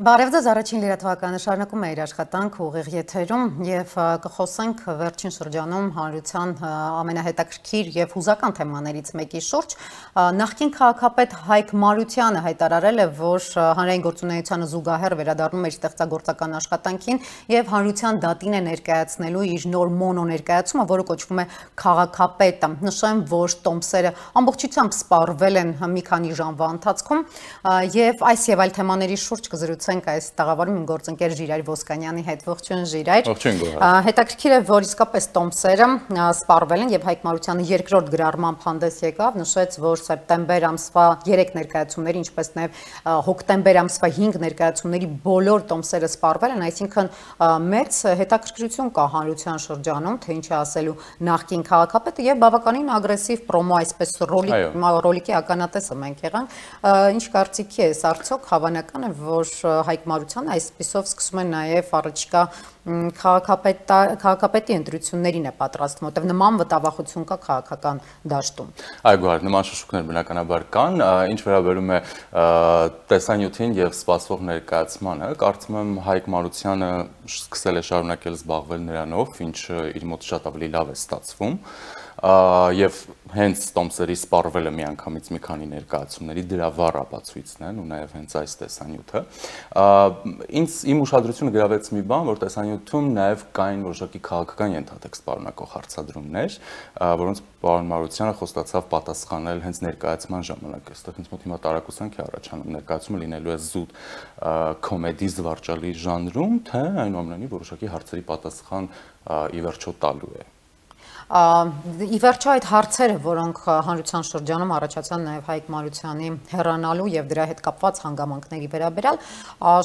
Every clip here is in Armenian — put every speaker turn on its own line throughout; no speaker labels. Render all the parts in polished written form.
Բարև ձեզ, առաջին լրատվականը շարունակում է իր աշխատանք ուղիղ եթերում եւ կխոսենք վերջին շրջանում հանրության ամենահետաքրքիր եւ հուզական թեմաներից մեկի շուրջ։ Նախկին քաղաքապետ Հայկ Մարությանը հայտարարել է, որ հանրային գործունեությանը զուգահեռ վերադառնում է իր ստեղծագործական աշխատանքին եւ հանրության դատին է ներկայացնելու իր նոր մոնո ներկայացումը, որը կոչվում է Քաղաքապետը։ Նշեմ, որ տոմսերը ամբողջությամբ սպառվել են մի քանի ժամվա ընթացքում եւ այս եւ այլ թեմաների շուրջ կզրուցենք այս տաղավարում իմ գործընկեր Ժիրայր Ոսկանյանի հետ։ Ողջույն Ժիրայր։ Հետաքրքիր է, որ իսկապես տոմսերը սպառվել են եւ Հայկ Մարությանը երկրորդ գրառմամբ հանդես եկավ, նշեց, որ սեպտեմբեր ամսվա 3 ներկայացումների, ինչպես նաեւ հոկտեմբեր ամսվա 5 ներկայացումների բոլոր տոմսերը սպառվել են, այսինքն մեծ հետաքրքրություն կա հանրության շրջանում, թե ինչ է ասելու նախկին քաղաքապետը եւ բավականին ագրեսիվ պրոմո, այսպես ռոլիկի ականատեսը մենք եղանք։ Ինչ կարծիքի ես, արդյոք հավանական է, որ Հայկ Մարությանը այսպիսով սկսում է նաև առաջիկա քաղաքապետի ընտրություններին է պատրաստվում, որտեղ նման վտավախություն կա քաղաքական դաշտում։
Այո, նման շշուկներ բնականաբար կան, ինչ վերաբերում է տեսանյութին եւ սպասվող ներկայացմանը, կարծում եմ Հայկ Մարությանը սկսել է շարունակել զբաղվել նրանով, ինչը իր մոտ շատ ավելի լավ է ստացվում։ Եվ հենց տոմսերի սպառվելը միանգամից մի քանի ներկայացումների դրա վառ ապացույցն են ու նաև հենց այս տեսանյութը։ Իմ ուշադրությունը գրավեց մի բան, որ տեսանյութում նաև կային որոշակի քաղաքական ենթատեքստ պարունակող հարցադրումներ, որոնց պարոն Մարությանը խոստացավ պատասխանել հենց ներկայացման ժամանակ։ Այստեղ ինձ մոտ հիմա տարակուսանք է առաջանում, ներկայացումը լինելու է զուտ կոմեդի զվարճալի ժանրում, թե այնուամենայնիվ որոշակի հարցերի պատասխան ի վերջո տալու է։
Ի վերջո այդ հարցերը, որոնք հանրության շրջանում առաջացան նաև Հայկ Մարությանի հեռանալու եւ դրա հետ կապված հանգամանքների վերաբերյալ,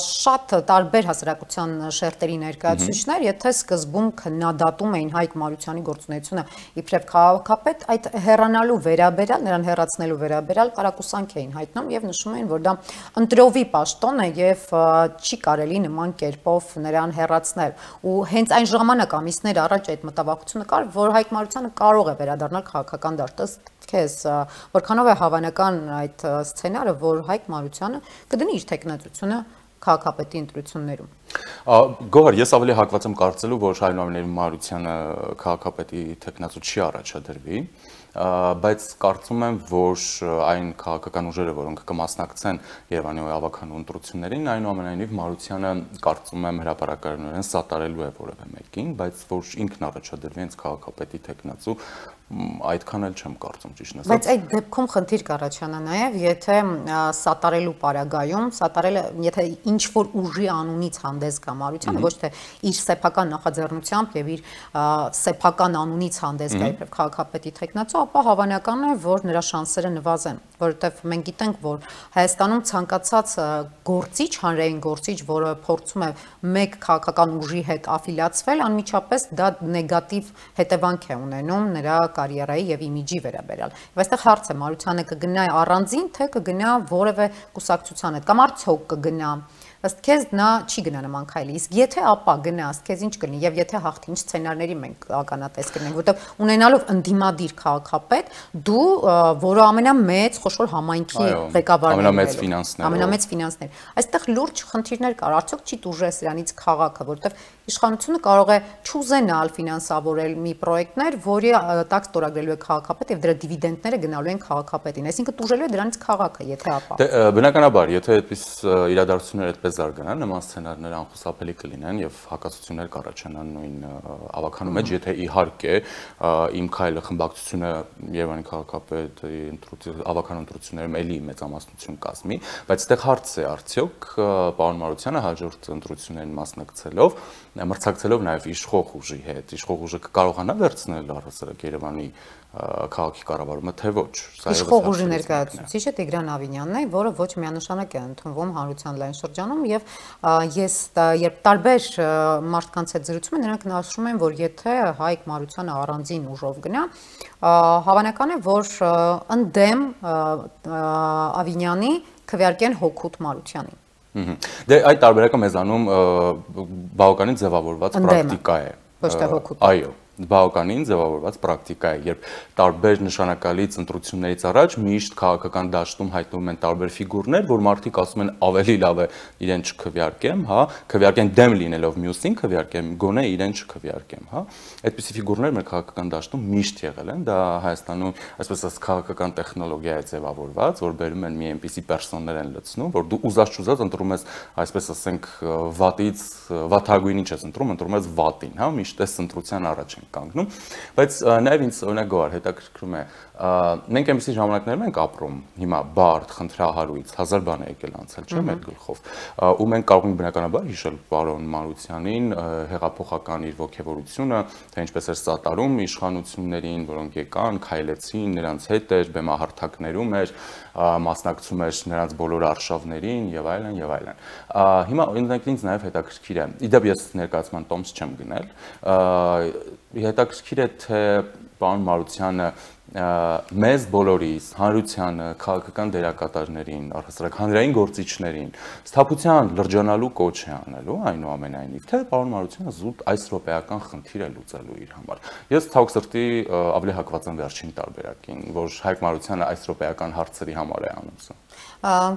շատ տարբեր հասարակության շերտերի ներկայացուցիչներ, եթե սկզբում քննադատում էին Հայկ Մարությանի գործունեությունը իբրև քաղաքապետ, այդ հեռանալու վերաբերյալ, նրան հեռացնելու վերաբերյալ կարակուսանք էին հայտնում եւ նշում էին, որ դա ընտրովի պաշտոն է եւ չի կարելի նման կերպով նրան հեռացնել։ Ու հենց այն ժամանակ ամիսներ առաջ այդ մտավախությունը կար, որ Հայկ Մարությանը կարող է վերադառնալ քաղաքական դաշտ։ Ըստ քեզ, որքանով է հավանական այդ սցենարը, որ Հայկ Մարությանը կդնի իր թեկնածությունը քաղաքապետի ընտրություններում։
Գոհար, ես ավելի հակված եմ կարծելու, որ այնուամենայնիվ Մարությանը քաղաքապետի թեկնածու չի առաջադրվի, բայց կարծում եմ, որ այն քաղաքական ուժերը, որոնք կմասնակցեն Երևանի ավականու ընտրություններին, այնուամենայնիվ Մարությանը կարծում եմ հրապարակայնորեն սատարելու է որևէ մեկին, բայց որ ինքն առաջադրվի հենց քաղաքապետի թեկնածու, այդքան էլ չեմ կարծում, ճիշտն ասած։
Բայց այդ դեպքում խնդիր կառաջանա նաև, եթե սատարելու պարագայում, սատարելը, եթե ինչ որ ուժի անունից հանդես գա Մարությանը, ոչ թե իր սեփական նախաձեռնությամբ եւ իր սեփական անունից հանդես գա իբրև քաղաքապետի թեկնածու, ապա հավանական է, որ նրա շանսերը նվազեն, որովհետեւ մենք գիտենք, որ Հայաստանում ցանկացած գործիչ, հանրային գործիչ, որը փորձում է մեկ քաղաքական ուժի հետ աֆիլիացվել, անմիջապես դա նեգատիվ հետևանք է ունենում նրա կարիերայի եւ իմիջի վերաբերյալ։ Եվ այստեղ հարց է, Մարությանը կգնա առանձին, թե կգնա որևէ կուսակցության հետ, կամ արդյոք կգնա։ Ըստ քեզ նա չի գնա նման քայլի, իսկ եթե ապա գնա, ըստ քեզ ինչ կլինի, եւ եթե հաղթի, ինչ սցենարների մենք ականատես կլինենք, որտեղ ունենալով ընդդիմադիր քաղաքապետ, դու, որը ամենամեծ խոշոր համայնքի ղեկավարն է, ամենամեծ ֆինանսներ, այստեղ լուրջ խնդիրներ կար, արդյոք չի տուժես իրանից քաղաքը, որտեղ իշխանությունը կարող է չուզենալ ֆինանսավորել մի պրոյեկտներ, որի տակ ստորագրելու է քաղաքապետ եւ դրա դիվիդենդները գնալու են քաղաքապետին, այսինքն տուժելու է դրանից քաղաքը, եթե ապա։
Բնականաբար, եթե այդպես իրադարձությունները այդպես զարգանան, նման սցենարներ անխուսափելի կլինեն եւ հակասություններ կառաջանան նույն ավականու մեջ, եթե իհարկե իմ քայլը խմբակցությունը Երևանի քաղաքապետի ավականու ընտրություններում էլի մեծամասնություն կազմի, բայց այդտեղ հարց է, արդյոք պարոն Մարությանը հաջորդ ընտրություններին մասնակցելով, մրցակցելով նաեւ իշխող ուժի հետ, իշխող ուժը կկարողանա վերցնել առհասարակ Երևանի քաղաքի կառավարումը, թե ոչ։
Իշխող ուժի ներկայացուցիչը Տիգրան Ավինյանն է, որը ոչ միանշանակ է ընդունվում հանրության լայն շրջանում եւ ես երբ տարբեր մարդկանց հետ զրուցում եմ, նրանք նշում են, որ եթե Հայկ Մարությանը առանձին ուժով գնա, հավանական է, որ ընդդեմ Ավինյանի քվեարկեն հօգուտ Մարությանին։
Դե այդ տարբերակը մեզանում բավականին ձևավորված պրակտիկա է։
Ոչ թե հօգուտ։
Այո, բավականին ձևավորված պրակտիկա է, երբ տարբեր նշանակալից ընտրություններից առաջ միշտ քաղաքական դաշտում հայտնվում են տարբեր ֆիգուրներ, որ մարդիկ ասում են ավելի լավ է իրեն չքվեարկեմ, հա, քվեարկեն դեմ լինելով մյուսին, քվեարկեմ գոնե իրեն չքվեարկեմ, հա։ Այդպիսի ֆիգուրներ մեր քաղաքական դաշտում միշտ եղել են, դա Հայաստանում, այսպես ասած, քաղաքական տեխնոլոգիա է ձևավորված, որ բերում են մի այնպիսի պերսոններ են լցնում, որ դու ուզած-չուզած ընտրում ես, այսպես ասենք, վատից վաթագույնին չես ընտրում ես վատին, հա, միշտ այս ընտրության առաջ են կանգնում, բայց նաև ինձ օրինակ գոհար հետաքրքրում է, մենք այնպիսի ժամանակներում ենք ապրում, հիմա բարդ, խնդրահարույց, հազար բան է եկել անցել, չէ՞ մեր գլխով, ու մենք կարող ենք բնականաբար հիշել պարոն Մարությանին, հեղափոխական իր ոգևորությունը, թե ինչպես էր սատարում իշխանություններին, որոնք եկան, քայլեցին, նրանց հետ էր, բեմահարթակներում էր, մասնակցում էր նրանց բոլոր արշավներին եւ այլն եւ այլն։ Հիմա օրինակ ինձ նաև հետաքրքիր է։ Իդեպ ես ներկայացման տոմս չեմ գնել։ Հետաքրքիր է թե պարոն Մարությանը մեզ բոլորիս, հանրությանը, քաղաքական դերակատարներին, առհասարակ հանրային գործիչներին սթափության լրջանալու կոչ է անելու, այնուամենայնիվ, թե պարոն Մարությանը զուտ այս րոպեական խնդիր է լուծելու իր համար։ Ես ցավոք սրտի ավելի հակված եմ վերջին տարբերակին, որ Հայկ Մարությանը այս րոպեական հարցերի համար է անում սա։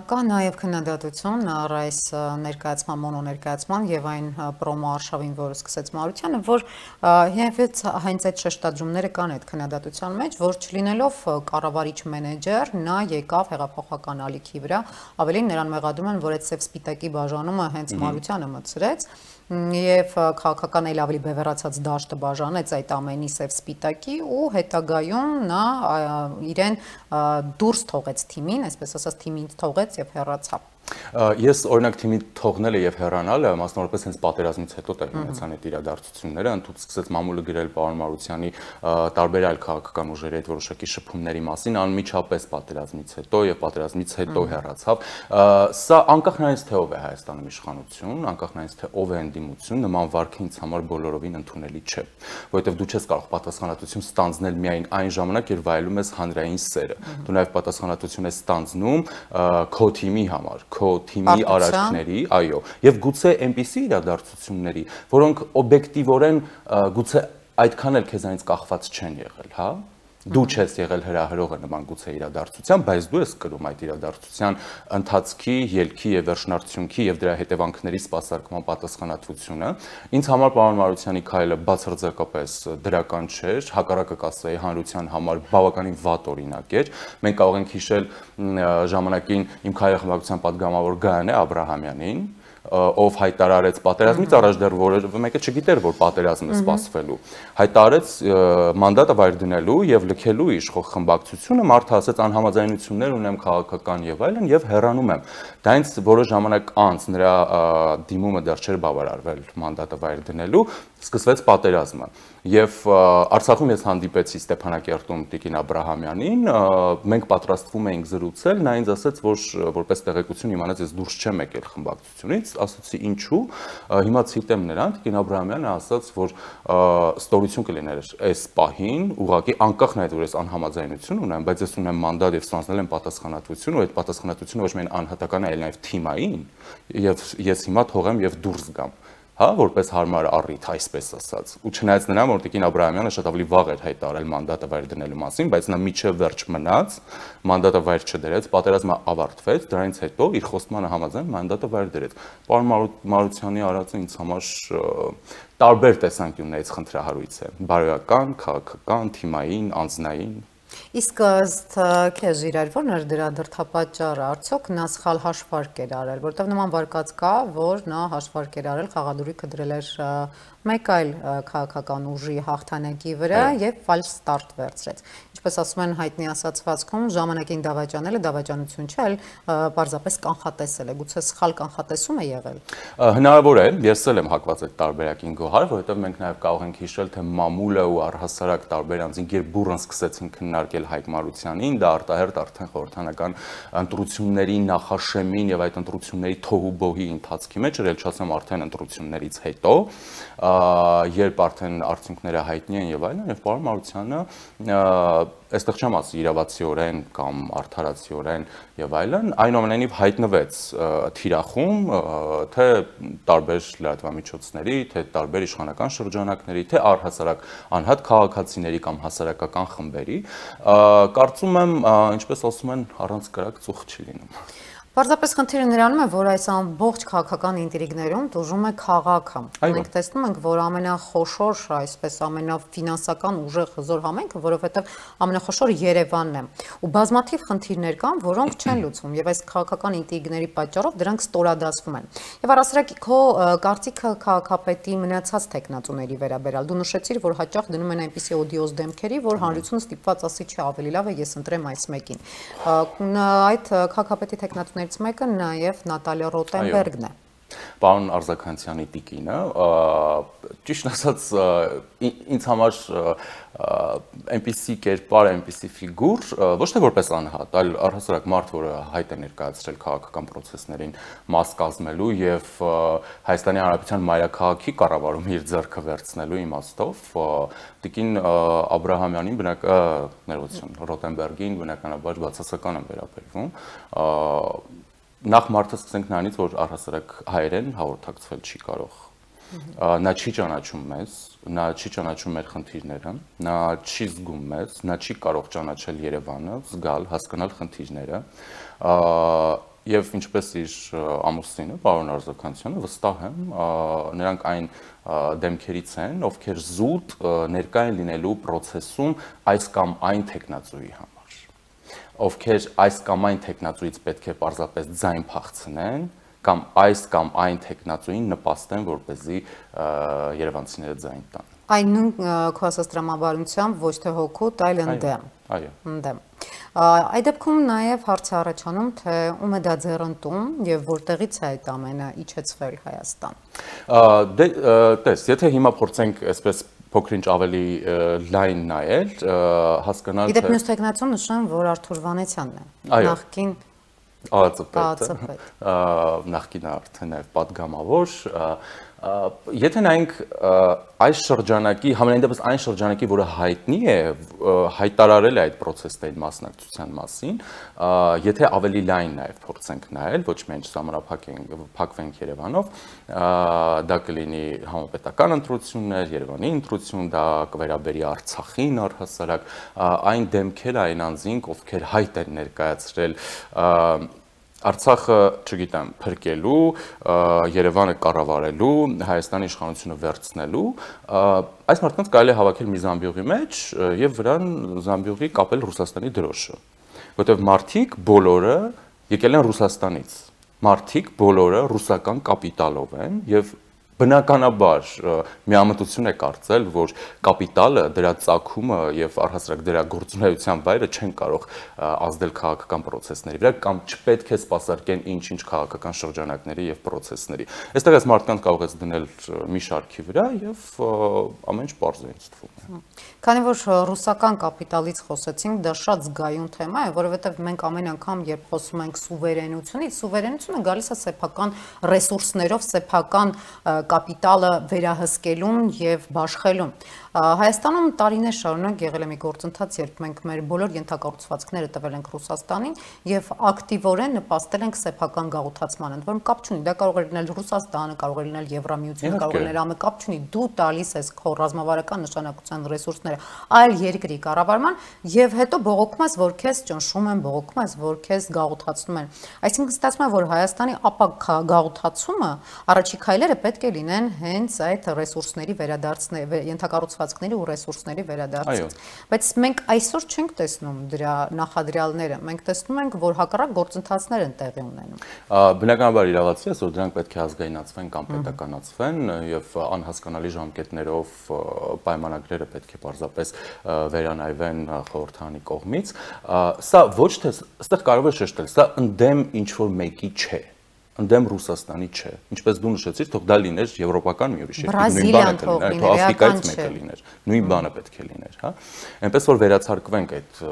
Կա նաև քննադատություն առ այս ներկայացման, մոնոներկայացման եւ այն պրոմո արշավին, որը սկսեց Մարությանը, որ հենց այդ շեշտադրումները կան այդ քննադատության մեջ, որ չլինելով կառավարիչ մենեջեր, նա եկավ հեղափոխական ալիքի վրա, ավելին նրան մեղադրում են, որ այդ սև սպիտակի բաժանումը հենց Մարությանը մտցրեց եւ քաղաքական էլ ավելի բևեռացած դաշտը բաժանեց այդ ամենի սև սպիտակի ու հետագայում նա իրեն դուրս թողեց թիմին, այսպես ասած թիմին թողեց եւ հեռացավ։
Ես օրինակ թիմի թողնելը եւ հեռանալը մասնավորապես հենց պատերազմից հետո տեղի ունեցան այդ իրադարձությունները, ընդհանուր սկսեց մամուլը գրել պարոն Մարությանի տարբեր այլ քաղաքական ուժերի հետ որոշակի շփումների մասին անմիջապես պատերազմից հետո եւ պատերազմից հետո հեռացավ։ Սա անկախ նրանից թե ով է Հայաստանում իշխանություն, անկախ նրանից թե ով է ընդդիմություն, նման վարքը ինձ համար բոլորովին ընդունելի չէ, որովհետեւ դու չես կարող պատասխանատվություն ստանձնել միայն այն ժամանակ, երբ վայելում ես հանրային սերը։ Դու նաեւ պատասխանատվություն ես ստանձնում քո թիմի համար, քո թիմի արարքների, այո, եւ գուցե այնպիսի իրադարձությունների, որոնք օբյեկտիվորեն գուցե այդքան էլ քեզանից կախված չեն եղել, հա։ Դու չես եղել հրահրողը նման գուցե իրադարձության, բայց դու ես կրում այդ իրադարձության ընթացքի, ելքի եւ վերջնարդյունքի եւ դրա հետևանքների սպասարկման պատասխանատվությունը։ Ինձ համար պարոն Մարությանի քայլը բացարձակապես դրական չէր, հակառակը կասեի հանրության համար բավականին վատ օրինակ էր։ Մենք կարող ենք հիշել ժամանակին իմ քայլի խմբակցության падգամավոր Գայանե Աբրահամյանին, ով հայտարարեց պատերազմից առաջ դեռ որևէ մեկը չգիտեր, որ պատերազմ է սպասվելու, հայտարարեց մանդատը վայր դնելու եւ լքելու իշխող խմբակցությունը, մարդը ասաց անհամաձայնություններ ունեմ քաղաքական եւ այլն եւ հեռանում եմ։ Դա ինձ որոշ ժամանակ անց նրա դիմումը դեռ չէր բավարարվել մանդատը վայր դնելու, սկսվեց պատերազմը եւ Արցախում ես հանդիպեցի Ստեփանակերտում Տիկին Աբրահամյանին, մենք պատրաստվում էինք զրուցել, նա ինձ ասաց, որ որպես տեղեկություն իմանաց ես դուրս չեմ եկել խմբակցությունից, ասացի ինչու, հիմա ցիտեմ նրան, Տիկին Աբրահամյանը ասաց, որ ստորություն կլիներ այս պահին, ուղղակի անկախ նրանից որ ես անհամաձայնություն ունեմ, բայց ես ունեմ մանդատ եւ ստանձնել եմ պատասխանատվություն, ու այդ պատասխանատվությունը ոչ միայն անհատական է, այլ նաեւ թիմային, եւ ես հիմա թողեմ եւ դուրս գամ։ Հա, որպես հարմար առիթ, այսպես ասած։ Ու չնայած նրան, որ Տիկին Աբրահամյանը շատ ավելի վաղ էր հայտարարել մանդատը վայր դնելու մասին, բայց նա միջև վերջ մնաց, մանդատը վայր չդրեց, պատերազմը ավարտվեց, դրանից հետո իր խոստմանը համաձայն մանդատը վայր դրեց։ Պարոն Մարությանի արածը ինձ համար տարբեր տեսանկյուններից խնդրահարույց է՝ բարոյական, քաղաքական, թիմային, անձնային։
Իսկ ըստ քեզ Իրար, ո՞րն էր դրա դրդապատճառը, արդյոք նա սխալ հաշվարկ էր արել, որտեղ նման վարկած կա, որ նա հաշվարկ էր արել, խաղադրույքը դրել էր մեկ այլ քաղաքական ուժի հաղթանակի վրա եւ ֆալշ ստարտ վերցրեց։ Ինչպես ասում են հայտնի ասացվածքում, ժամանակին դավաճանելը դավաճանություն չէ, այլ պարզապես կանխատեսել է, գուցե սխալ կանխատեսում է եղել։
Հնարավոր է, ես էլ եմ հակված այդ տարբերակին գոհար, որովհետեւ մենք նաեւ կարող ենք հիշել, թե մամուլը ու առհասարակ տարբեր անձինք երբ բուռն սկսեցին քննարկել Հայկ Մարությանին, դա արտահերտ արդեն խորհրդանական ընտրությունների նախաշեմին եւ այդ ընտրությունների թոհուբոհի ընթացքի մեջ էր, ել չասեմ արդեն ընտրություններից հետո, երբ արդեն արդյունքները հայտնի են եւ այլն, եւ պարոն Մարությանը այստեղ չեմ ասի իրավացիորեն կամ արդարացիորեն եւ այլն, այնուամենայնիվ հայտնվեց թիրախում թե տարբեր լրատվամիջոցների, թե տարբեր իշխանական շրջանակների, թե առհասարակ անհատ քաղաքացիների կամ հասարակական խմբերի, կարծում եմ, ինչպես ասում են, առանց կրակ ծուխ չի լինում։
Պարզապես խնդիրը նրանում է, որ այս ամբողջ քաղաքական ինտրիգներում դժում է քաղաքը։ Մենք տեսնում ենք, որ ամենախոշոր, այսպես ամենաֆինանսական ուժեղ հզոր համայնքը, որովհետև ամենախոշորը Երևանն է։ Ու բազմաթիվ խնդիրներ կան, որոնք չեն լուծվում, եւ այս քաղաքական ինտրիգների պատճառով դրանք ստորադասվում են։ Եվ առասարակ քո կարծիքը քաղաքապետի մնացած տեխնատուների վերաբերյալ։ Դու նշեցիր, որ հաճախ դնում են այնպիսի օդիոզ դեմքերի, որ հանրությունը ստիպված ասի չի, ավելի լավ է ես ընտրեմ այս մեկին։ Այդ քաղաքապետի տեխնատուներից մեկը նաև Նատալիա Ռոտենբերգն է։
Պարոն Արզականցյանի տիկինը, ճիշտ ասած, ինձ համար այնպիսի կերպար, այնպիսի ֆիգուր, ոչ թե որպես անհատ, այլ առհասարակ մարդ, որը հայտ է ներկայացրել քաղաքական պրոցեսներին մաս կազմելու եւ Հայաստանի Հանրապետության մայրաքաղաքի կառավարումը իր ձեռքը վերցնելու իմաստով, տիկին Աբրահամյանին ներողություն, Ռոտենբերգին բնականաբար բացասական եմ վերաբերվում, նախ մարդը սկսենք նրանից, որ առհասարակ հայերեն հաղորդակցվել չի կարող։ Նա չի ճանաչում մեզ, նա չի ճանաչում մեր խնդիրները, նա չի զգում մեզ, նա չի կարող ճանաչել Երևանը, զգալ, հասկանալ խնդիրները, եւ ինչպես իր ամուսինը, պարոն Արզականցյանը, վստահ եմ, նրանք այն դեմքերից են, ովքեր զուտ ներկա են լինելու process-ում այս կամ այն տեխնացուի համար, ովքեր այս կամ այն տեխնացուից պետք է պարզապես ձայն փախցնեն, կամ այս կամ այն տեխնացուին նպաստեն, որպեսզի երևանցիները ձայն տան։
Այն նույն քո ասած տրամաբանությամբ ոչ թե հոգուտ, այլ ընդդեմ։
Այո։
Ընդդեմ։ Այդ դեպքում նաև հարց է առաջանում, թե ում է դա ձեռընտում եւ որտեղից է այդ ամենը իջեցվել Հայաստան։
Տես, եթե հիմա փորձենք այսպես փոքրինչ ավելի լայն նայել, հասկանալ
թե Իդեպ մյուս տեխնացուն նշեմ, որ Արթուր Վանեցյանն է։ Նախկին
ԱԱԾ-պետը, նախկին արդեն նաև պատգամավոր, եթե նայենք այս շրջանակի, համենայն դեպս այն շրջանակի, որը հայտնի է, հայտարարել է այդ պրոցեսների մասնակցության մասին, եթե ավելի լայն նաև փորձենք նայել, ոչ միայն սահմանափակվենք Երևանով, դա կլինի համապետական ընտրություններ, Երևանի ընտրություն, դա կվերաբերի Արցախին առհասարակ, այն դեմքերը, այն անձինք, ովքեր հայտ են ներկայացրել Արցախը, չգիտեմ, փրկելու, Երևանը կառավարելու, Հայաստանի իշխանությունը վերցնելու, այս մարդկանց կարելի է հավաքել մի զամբյուղի մեջ եւ վրան զամբյուղի կապել Ռուսաստանի դրոշը, որտեղ մարդիկ բոլորը եկել են Ռուսաստանից, մարդիկ բոլորը ռուսական կապիտալով են եւ բնականաբար միամտություն է կարծել, որ կապիտալը, դրա ծագումը եւ առհասարակ դրա գործունեության վայրը չեն կարող ազդել քաղաքական պրոցեսների վրա կամ չպետք է սպասարկեն ինչ-ինչ քաղաքական շրջանակների եւ պրոցեսների։ Այստեղ այս մարդկանց կարող է դնել մի շարքի վրա եւ ամեն ինչ པարզ է ինձ թվում։
Քանի որ ռուսական կապիտալից խոսեցինք, դա շատ զգայուն թեմա է, որովհետեւ մենք ամեն անգամ, երբ խոսում ենք սուվերենությունից, սուվերենությունը գալիս է սեփական ռեսուրսներով, սեփական կապիտալը վերահսկելուն եւ բաշխելուն։ Հայաստանում տարիներ շարունակ եղել է մի գործընթաց, երբ մենք մեր բոլոր ենթակառուցվածքները տվել ենք Ռուսաստանին եւ ակտիվորեն նպաստել ենք սեփական գաղութացմանը, ընդ որում կապ չունի, դա կարող է լինել Ռուսաստանը, կարող է լինել Եվրամիությունը, կարող է լինել ԱՄԷ, կապ չունի, դու տալիս ես քո ռազմավարական նշանակության ռեսուրսները այլ երկրի կառավարման եւ հետո բողոքում ես, որ քեզ ճնշում են, բողոքում ես, որ քեզ գաղութացնում են։ Այսինքն ստացվում է, որ Հայաստանի ապակ գաղութացումը առաջի քայլերը պետք է լինեն հենց այդ ռեսուրսների վերադարձնելու, ենթակառուցվածքների ու ռեսուրսների վերադարձից։ Բայց մենք այսօր չենք տեսնում դրա նախադրյալները, մենք տեսնում ենք, որ հակառակ գործընթացներ են տեղի ունենում։
Բնականաբար իրավացի է, որ դրանք պետք է ազգայնացվեն կամ պետականացվեն եւ անհասկանալի ժամկետներով պայմանագրերը պետք է պարզապես վերանայվեն խորհրդանի կողմից։ Սա ոչ թե, այստեղ կարող է շեշտել, սա ընդդեմ ինչ որ մեկի չէ։ ընդդեմ Ռուսաստանի չէ։ Ինչպես դու նշեցիր, թող դա լիներ եվրոպական մի ուրիշ երկիր, նույն բանը կլիներ, թող Աֆրիկայից մեկը լիներ, նույն բանը պետք է լիներ, հա։ Այնպես որ վերացարկվենք այդ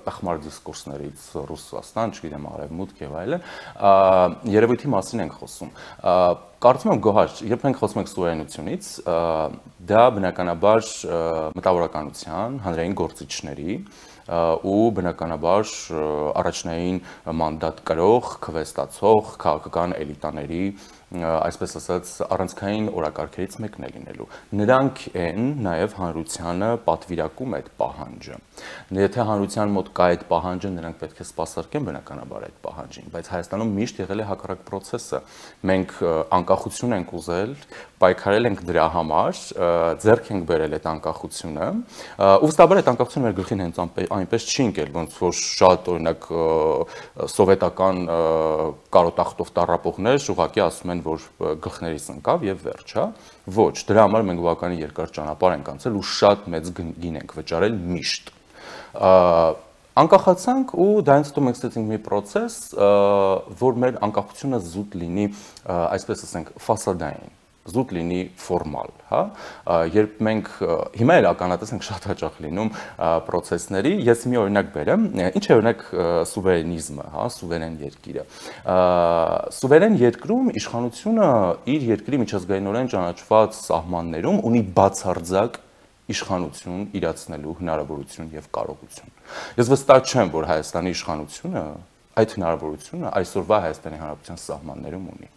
տխմար դիսկուրսներից Ռուսաստան, չգիտեմ, Արևմուտք եւ այլն, երևույթի մասին ենք խոսում։ Կարծում եմ Գոհար, երբ մենք խոսում ենք սուվերենությունից, դա բնականաբար մտավորականության, հանրային գործիչների ու բնականաբար առաջնային մանդատ կրող, քվեստացող, քաղաքական էլիտաների, այսպես ասած, առանցքային օրակարգերից մեկն է լինելու։ Նրանք են նաև հանրությանը պատվիրակում այդ պահանջը։ Եթե հանրության մոտ կա այդ պահանջը, նրանք պետք է սպասարկեն բնականաբար այդ պահանջին, բայց Հայաստանում միշտ եղել է հակառակ process-ը։ Մենք անկախություն ենք ուզել, պայքարել ենք դրա համար, ձեռք ենք բերել այդ անկախությունը, ուստաբար այդ անկախությունը մեր գլխին հենց այնպես չի ընկել, ոնց որ շատ օրինակ սովետական կարոտախտով տառապողներ ուղղակի ասում են, որ գլխներից ընկավ եւ վերջ, հա։ Ոչ, դրա համար մենք բավականին երկար ճանապարհ ենք անցել ու շատ մեծ գին ենք վճարել միշտ։ Անկախացանք ու դրանից հետո մենք ստացինք մի process, որ մեր անկախությունը զուտ լինի, այսպես ասենք, ֆասադային, զուտ լինի ֆորմալ, հա։ Երբ մենք հիմա էլ ականատես ենք շատ հաճախ լինում process-ների, ես մի օրինակ բերեմ, ինչ է օրինակ սուվերենիզմը, հա, սուվերեն երկիրը։ Սուվերեն երկրում իշխանությունը իր երկրի միջազգայինորեն ճանաչված սահմաններում ունի բացարձակ իշխանություն իրացնելու հնարավորություն եւ կարողություն։ Ես վստահ չեմ, որ Հայաստանի իշխանությունը այդ հնարավորությունը այսօրվա Հայաստանի Հանրապետության սահմաններում ունի։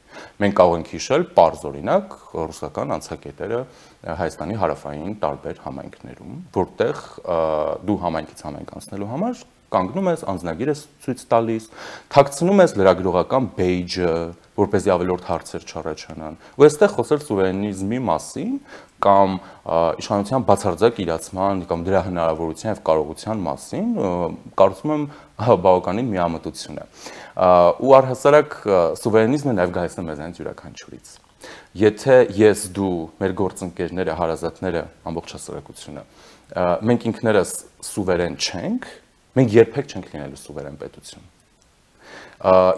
Մենք կարող ենք հիշել պարզ օրինակ ռուսական անցակետերը Հայաստանի հարավային տարբեր համայնքներում, որտեղ դու համայնքից համայնք անցնելու համար կանգնում ես, անձնագիր ես ցույց տալիս, թաքցնում ես լրագրողական բեյջը, որպեսզի ավելորդ հարցեր չառաջանան։ Ու այստեղ խոսել սուվերենիզմի մասին կամ իշխանության բացարձակ իրացման կամ դրա հնարավորության եւ կարողության մասին, կարծում եմ բավականին միամտություն է։ Ու առհասարակ սուվերենիզմը նաեւ գալիս է մեզանից յուրաքանչյուրից։ Եթե ես դու, մեր գործընկերները, հարազատները, ամբողջ հասարակությունը, մենք ինքներս սուվերեն չենք, մենք երբեք չենք լինելու սուվերեն պետություն։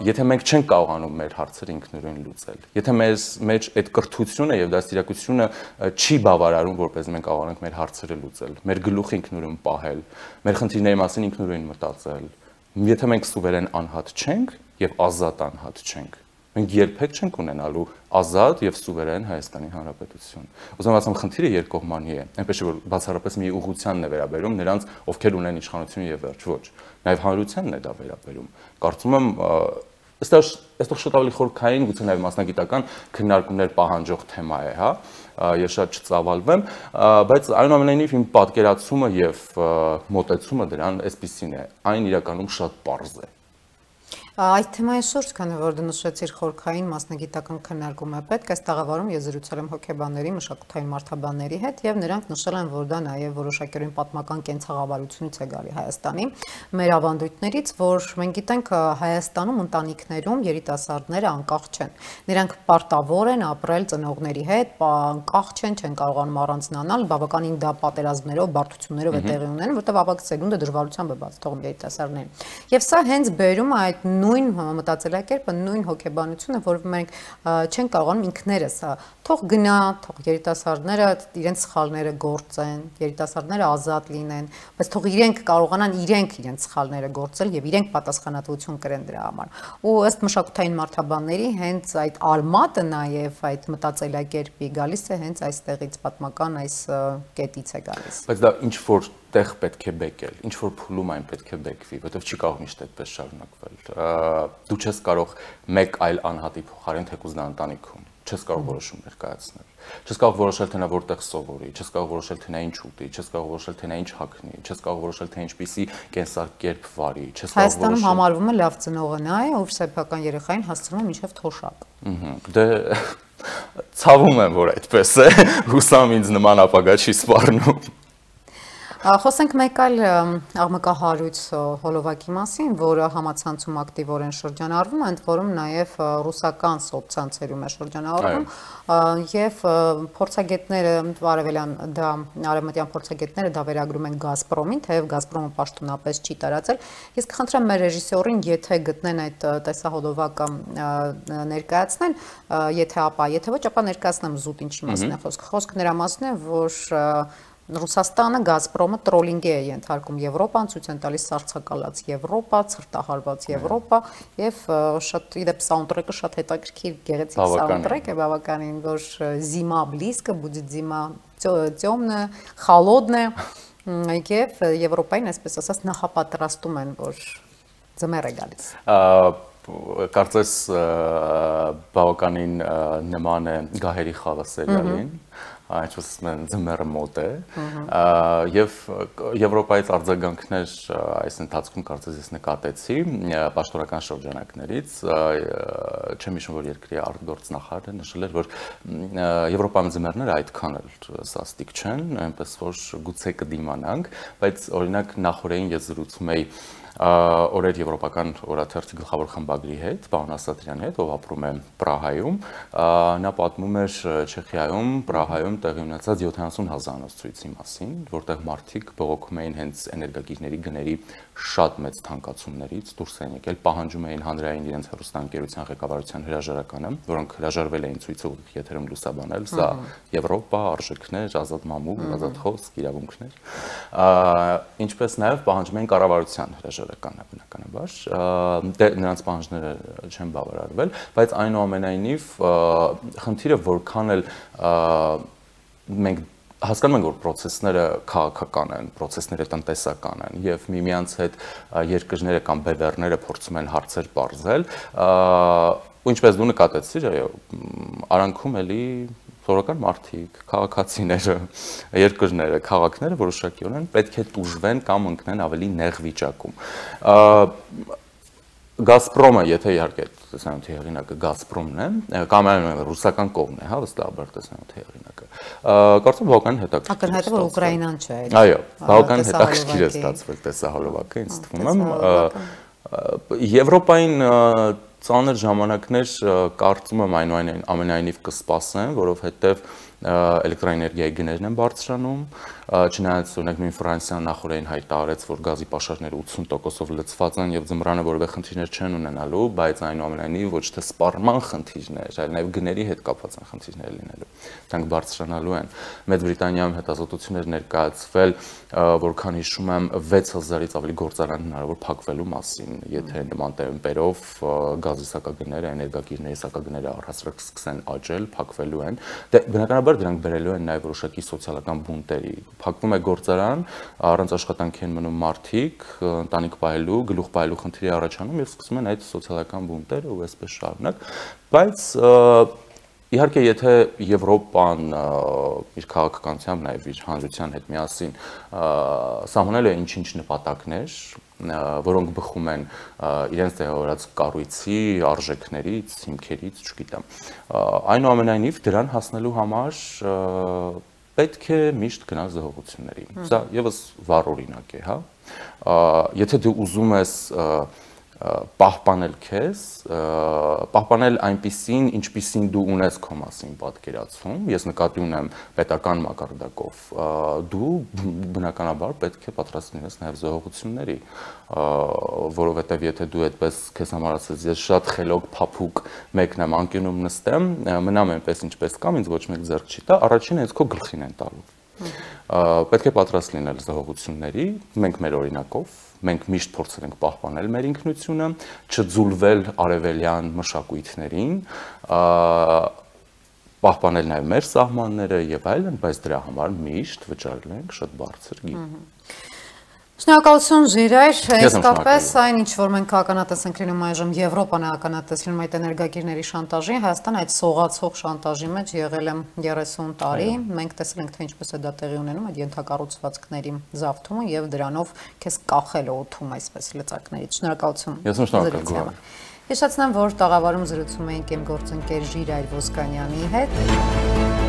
Եթե մենք չենք կարողանում մեր հարցերը ինքնուրույն լուծել, եթե մեր այդ կրթությունը եւ դաստիարակությունը չի բավարարում, որպես մենք կարողանանք մեր հարցերը լուծել, մեր գլուխը ինքնուրույն պահել, մեր խնդիրների մասին ինքնուրույն մտածել, եթե մենք սուվերեն անհատ չենք եւ ազատ անհատ չենք, մենք երբեք չենք ունենալու ազատ եւ սուվերեն Հայաստանի Հանրապետություն։ Ուզում ասեմ, խնդիրը երկկողմանի է, այնպես որ բացառապես մի ուղղությանն է վերաբերում նրանց, ովքեր ունեն իշխանություն եւ վերջ, ոչ, նաեւ հանրությանն է դա վերաբերում։ Կարծում եմ, այստեղ շատ ավելի խորքային, գուցե նաեւ մասնագիտական քննարկումներ պահանջող թեմա է, հա։ Ես շատ չծավալվեմ, բայց այնուամենայնիվ իմ պատկերացումը եւ մոտեցումը դրան այսպեսին է, այն իրականում շատ պարզ է։
Այդ թեմայի շուրջ, քանի որ դու նշեցիր խորքային մասնագիտական քննարկում է պետք, այս տաղավարում ես զրուցել եմ հոգեբանների, մշակութային մարդաբանների հետ եւ նրանք նշել են, որ դա նաեւ որոշակյորեն պատմական կենցաղավարությունից է գալի Հայաստանի մեր ավանդույթներից, որ մենք գիտենք Հայաստանում ընտանիքներում երիտասարդները անկախ չեն։ Նրանք պարտավոր են ապրել ծնողների հետ, անկախ չեն կարողանում առանձնանալ, բավականին դա պատերազմներով, բարդություններով է տեղի ունենում, որտեղ ավագ սերունդը դժվարությամբ է բաց թողում երիտասարդներին։ Եվ սա հենց բերում է այդ նույն մտածելակերպը, նույն հոգեբանությունը, որ մենք չենք կարողանում ինքներս, թող գնա, թող երիտասարդները իրենց սխալները գործեն, երիտասարդները ազատ լինեն, բայց թող իրենք կարողանան իրենց սխալները գործել եւ իրենք պատասխանատվություն կրեն դրա համար։ Ու ըստ մշակութային մարդաբանների հենց այդ արմատը նաեւ այդ մտածելակերպի գալիս է հենց այստեղից պատմական այս կետից է գալիս։
Բայց դա ինչ որ տեղ պետք է բեկել, ինչ որ փուլում այն պետք է բեկվի, որովհետև չի կարող միշտ այդպես շարունակվել։ Դու չես կարող մեկ այլ անհատի փոխարեն թեկուզ դա ընտանիքում, չես կարող որոշումներ կայացնել, չես կարող որոշել թե նա որտեղ սովորի, չես կարող որոշել թե նա ինչ ուտի, չես կարող որոշել թե նա ինչ հագնի, չես կարող որոշել թե ինչպիսի կենսակերպ վարի, չես կարող որոշել։
Հայաստանում համարվում է լավ ծնողը նա է, ով սեփական երեխային հասցնում է մինչև թոշակ։
Դե ցավում եմ, որ այդպես է, հուսամ ինձ նման ապագա չի սպառնում։
Խոսենք մեկ այլ աղմկահարույց հոլովակի մասին, որը համացանցում ակտիվորեն շրջանառվում է, ընդ որում նաև ռուսական սոցցանցերում է շրջանառվում եւ փորձագետները արևմտյան փորձագետները դա վերագրում են Գազպրոմին, թեև Գազպրոմը պաշտոնապես չի տարածել։ Ես կխնդրեմ մեր ռեժիսորին, եթե գտնեն այդ տեսահոլովակը ներկայացնեն, եթե ոչ, ապա ներկայացնեմ զուտ ինչի մասին է խոսքը։ Խոսքը նրա մասն է, որ Ռուսաստանը Գազպրոմը տրոլինգի է ենթարկում Եվրոպան, ցույց են տալիս սառցակալած Եվրոպա, ցրտահարված Եվրոպա եւ շատ իդեպ սաունդթրեքը շատ հետաքրքիր գեղեցիկ սաունդթրեք է, բավականին, որ զիմա բլիզկը, будет зима темная, холодная, եւ Եվրոպային, այսպես ասած, նախապատրաստում են, որ ձմեռ է գալիս։
Կարծես բավականին նման է Գահերի խաղը սերիալին, ինչպես ասում ձմեռը մոտ է, եւ Եվրոպայից արձագանքներ այս ընթացքում կարծես ես նկատեցի պաշտոնական շրջանակներից, չեմ հիշում, որ երկրի արտգործնախարարը նշել էր, որ Եվրոպայում ձմեռները այդքան էլ սաստիկ չեն, այնպես որ գուցե կդիմանանք, բայց օրինակ նախորդին ես զրուցում էի օրեր եվրոպական օրաթերթի գլխավոր խմբագրի հետ, պարոն Ասատրյանի հետ, ով ապրում է Պրահայում, նա պատմում էր Չեխիայում, Պրահայում տեղի ունեցած 70,000-անոց ցույցի մասին, որտեղ մարդիկ բողոքում էին հենց էներգակիրների գների շատ մեծ թանկացումներից, դուրս են եկել, պահանջում էին հանրային իրենց հեռուստաընկերության ղեկավարության հրաժարականը, որոնք հրաժարվել էին ցույցը ուղիղ եթերում լուսաբանել, սա Եվրոպա, արժեքներ, ազատ մամուլ, ազատ խոսք, իրավունքներ, ինչպես նաև պահանջում էին կառավարության հրաժարականը բնականաբար, նրանց պահանջները չեն բավարարվել, բայց այնուամենայնիվ խնդիրը որքան էլ մենք հասկանում ենք, որ process-ները քաղաքական են, process-ները տնտեսական են եւ միմյանց հետ երկրները կամ բևեռները փորձում են հարցեր բարձել, ու ինչպես դու նկատեցիր, այո, արանքում էլի սովորական մարդիկ, քաղաքացիները, երկրները, քաղաքները որոշակիորեն պետք է տուժվեն կամ ընկնեն ավելի նեղ վիճակում։ Գազպրոմը, եթե իհարկե տեսանյութի հեղինակը Գազպրոմն է, կամ այլ ռուսական կողմն է, հա, վստահաբար տեսանյութի հեղինակը։ Կարծում բավական հետաքրքիր է։
Ակնհայտ է, որ Ուկրաինան չէ։
Այո, բավական հետաքրքիր է ստացվել տեսահոլովակը, ինձ թվում է։ Եվրոպային ծանր ժամանակներ կարծում եմ ամենայնիվ կսպասեն, որովհետև էլեկտրաէներգիայի գներն են բարձրանում, չնայած օրինակ նույն Ֆրանսիան նախորդին հայտարարեց, որ գազի պաշարները 80%-ով լցված են եւ ձմռանը որևէ խնդիրներ չեն ունենալու, բայց այնուամենայնիվ ոչ թե սպառման խնդիրներ, այլ նաեւ գների հետ կապված են խնդիրներ լինելու։ Դրանք բարձրանալու են։ Մեծ Բրիտանիայում հետազոտություններ ներկայացվել, որքան հիշում եմ 6000-ից ավելի գործարան հնարավոր փակվելու մասին, եթե նման տեմպերով գազի սակագները, էներգակիրների սակագները առհասարակ սկսեն աճել, փակվելու են։ Դե բնականաբար դրանք բերելու են նաև որոշակի սոցիալական բունտերի։ Փակվում է գործարան, առանց աշխատանքի են մնում մարդիկ, ընտանիք պահելու, գլուխ պահելու խնդիրի առաջանում եւ սկսում են այդ սոցիալական բունտերը ու այսպես շարունակ, բայց իհարկե եթե Եվրոպան իր քաղաքականությամբ նաև իր հանրության հետ միասին սահմանել է ինչ-ինչ նպատակներ, որոնք բխում են իրենց տեղավորած կառույցի, արժեքներից, հիմքերից, չգիտեմ, այնուամենայնիվ դրան հասնելու համար պետք է միշտ գնալ զոհողությունների։ Սա եւս վառ օրինակ է, հա։ Եթե դու ուզում ես պահպանել քեզ, պահպանել այնպիսին, ինչպիսին դու ունես քո մասին պատկերացում, ես նկատի ունեմ պետական մակարդակով, դու բնականաբար պետք է պատրաստ լինես նաև զոհողությունների, որովհետև եթե դու այդպես քեզ համար ասես, ես շատ խելոք փափուկ մեկն եմ անկյունում նստեմ, մնամ այնպես ինչպես կամ, ինձ ոչ մեկ ձեռք չի տա, առաջինը հենց քո գլխին են տալու։ Պետք է պատրաստ լինել զոհողությունների, մենք մեր օրինակով, մենք միշտ փորձել ենք պահպանել մեր ինքնությունը, չձուլվել արևելյան մշակույթներին, պահպանել նաև մեր սահմանները եւ այլն, բայց դրա համար միշտ վճարել ենք շատ բարձր գին։
Շնորհակալություն Ժիրայր, իսկապես այն ինչ որ մենք ականատես ենք լինում այժմ Եվրոպան է ականատես լինում այդ էներգակիրների շանտաժի, Հայաստանը այդ սողացող շանտաժի մեջ եղել է 30 տարի, մենք տեսել ենք թե ինչպես է դա տեղի ունենում այդ ենթակառուցվածքների զավթումը եւ դրանով քեզ կախել օդում այսպես լծակներից։ Շնորհակալություն։
Ես շնորհակալ եմ։
Հիշեցնեմ, որ տաղավարում զրուցում էինք իմ գործընկեր Ժիրայր Ոսկանյանի հետ։